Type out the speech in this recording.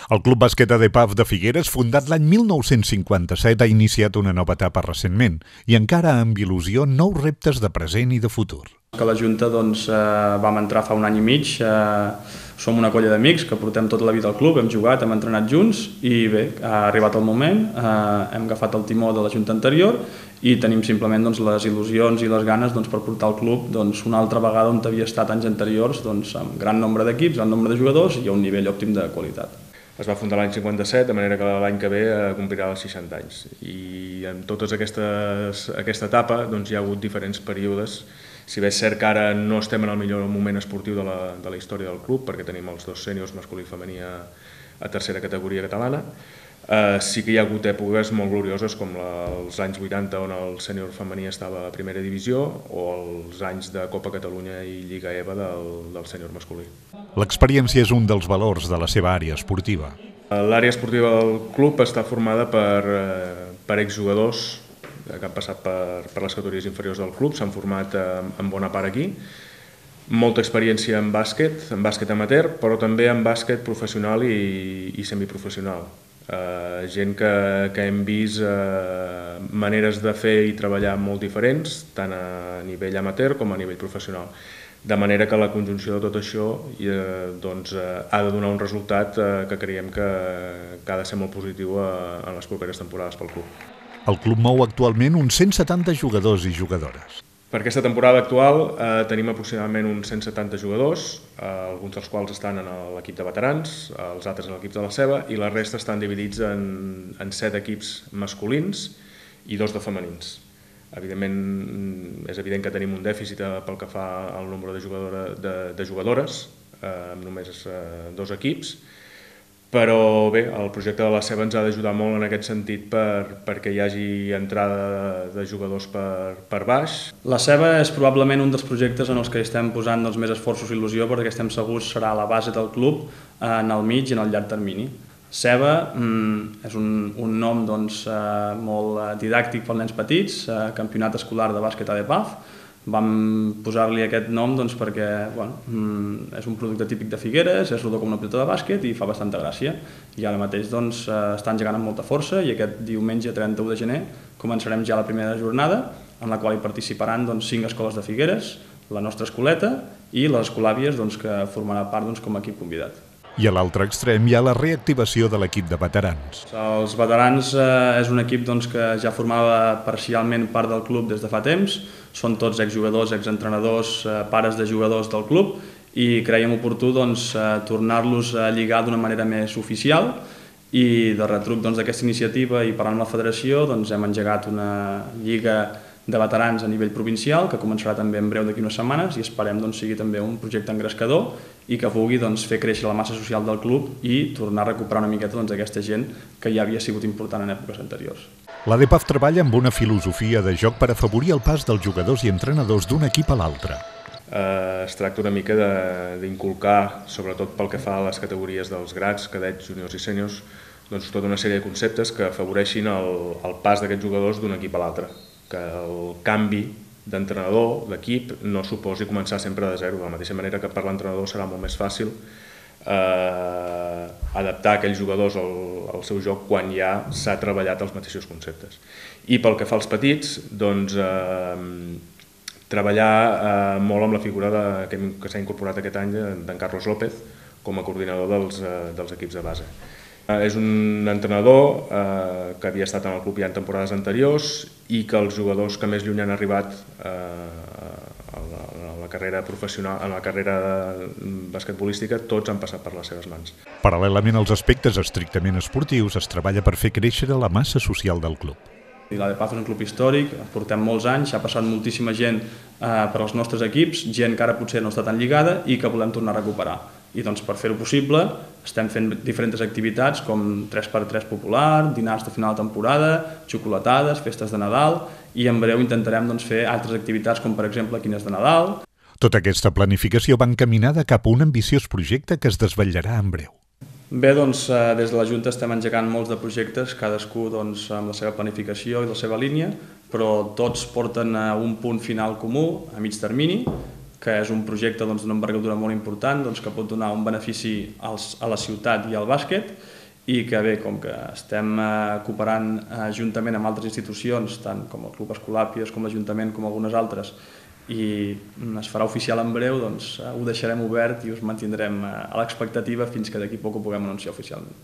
El Club Bàsquet ADEPAF de Figueres, fundat l'any 1957, ha iniciat una nova etapa recentment i encara amb il·lusió nous reptes de present i de futur. Que la Junta vam entrar fa un any i mig, som una colla d'amics que portem tota la vida al club, hem jugat, hem entrenat junts i bé, ha arribat el moment, hem agafat el timó de la Junta anterior i tenim simplement les il·lusions i les ganes per portar el club una altra vegada on havia estat anys anteriors, amb gran nombre d'equips, gran nombre de jugadors i a un nivell òptim de qualitat. Es va fundar l'any 57, de manera que l'any que ve complirà els 60 anys. I en tota aquesta etapa hi ha hagut diferents períodes. Si bé és cert que ara no estem en el millor moment esportiu de la història del club, perquè tenim els dos sèniors masculí i femení a tercera categoria catalana, sí que hi ha hagut èpoques molt glorioses com els anys 80 on el sènior femení estava a primera divisió o els anys de Copa Catalunya i Lliga EVA del sènior masculí. L'experiència és un dels valors de la seva àrea esportiva. L'àrea esportiva del club està formada per exjugadors que han passat per les categories inferiors del club, s'han format en bona part aquí. Molta experiència en bàsquet amateur, però també en bàsquet professional i semiprofessional. Gent que hem vist maneres de fer i treballar molt diferents, tant a nivell amateur com a nivell professional. De manera que la conjunció de tot això ha de donar un resultat que creiem que ha de ser molt positiu en les properes temporades pel club. El club mou actualment uns 170 jugadors i jugadores. Per aquesta temporada actual tenim aproximadament uns 170 jugadors, alguns dels quals estan en l'equip de veterans, els altres en l'equip de la ceba, i la resta estan dividits en 7 equips masculins i 2 de femenins. Evidentment, és evident que tenim un dèficit pel que fa al nombre de jugadores, amb només 2 equips, però bé, el projecte de la ceba ens ha d'ajudar molt en aquest sentit perquè hi hagi entrada de jugadors per baix. La ceba és probablement un dels projectes en els que estem posant més esforços i il·lusió perquè estem segurs serà la base del club en el mig i en el llarg termini. Ceba és un nom molt didàctic pels nens petits, campionat escolar de bàsquet ADEPAF. Vam posar-li aquest nom perquè és un producte típic de Figueres, és rodó com una pilota de bàsquet i fa bastanta gràcia. I ara mateix està engegant amb molta força i aquest diumenge 31 de gener començarem ja la primera jornada en la qual hi participaran 5 escoles de Figueres, la nostra escoleta i les escolàvies que formarà part com a equip convidat. I a l'altre extrem hi ha la reactivació de l'equip de veterans. Els veterans és un equip que ja formava parcialment part del club des de fa temps, són tots exjugadors, exentrenadors, pares de jugadors del club i creiem oportú tornar-los a lligar d'una manera més oficial i de retruc d'aquesta iniciativa i parlant amb la federació hem engegat una lliga de veterans a nivell provincial que començarà també en breu d'aquí unes setmanes i esperem sigui també un projecte engrescador i que vulgui fer créixer la massa social del club i tornar a recuperar una miqueta aquesta gent que ja havia sigut important en èpoques anteriors. L'ADEPAF treballa amb una filosofia de joc per afavorir el pas dels jugadors i entrenadors d'un equip a l'altre. Es tracta una mica d'inculcar, sobretot pel que fa a les categories dels grads, cadets, juniors i sèniors, tota una sèrie de conceptes que afavoreixin el pas d'aquests jugadors d'un equip a l'altre. Que el canvi d'entrenador, d'equip, no suposi començar sempre de zero. De la mateixa manera que per l'entrenador serà molt més fàcil adaptar aquells jugadors al seu joc quan ja s'ha treballat els mateixos conceptes. I pel que fa als petits, treballar molt amb la figura que s'ha incorporat aquest any d'en Carlos López com a coordinador dels equips de base. És un entrenador que havia estat en el club ja en temporades anteriors i que els jugadors que més lluny han arribat a la carrera professional, a la carrera basquetbolística, tots han passat per les seves mans. Paral·lelament als aspectes estrictament esportius, es treballa per fer créixer la massa social del club. L'ADEPAF és un club històric, portem molts anys, s'ha passat moltíssima gent per als nostres equips, gent que ara potser no està tan lligada i que volem tornar a recuperar. I per fer-ho possible estem fent diferents activitats com 3x3 popular, dinars de final de temporada, xocolatades, festes de Nadal i en breu intentarem fer altres activitats com per exemple quines de Nadal. Tota aquesta planificació va encaminada cap a un ambiciós projecte que es desvetllarà en breu. Bé, des de la Junta estem engegant molts de projectes, cadascú amb la seva planificació i la seva línia, però tots porten a un punt final comú, a mig termini, que és un projecte d'una envergadura molt important, que pot donar un benefici a la ciutat i al bàsquet, i que bé, com que estem cooperant juntament amb altres institucions, tant com el Club Escolàpies, com l'Ajuntament, com algunes altres, i es farà oficial en breu, ho deixarem obert i us mantindrem a l'expectativa fins que d'aquí poc ho puguem anunciar oficialment.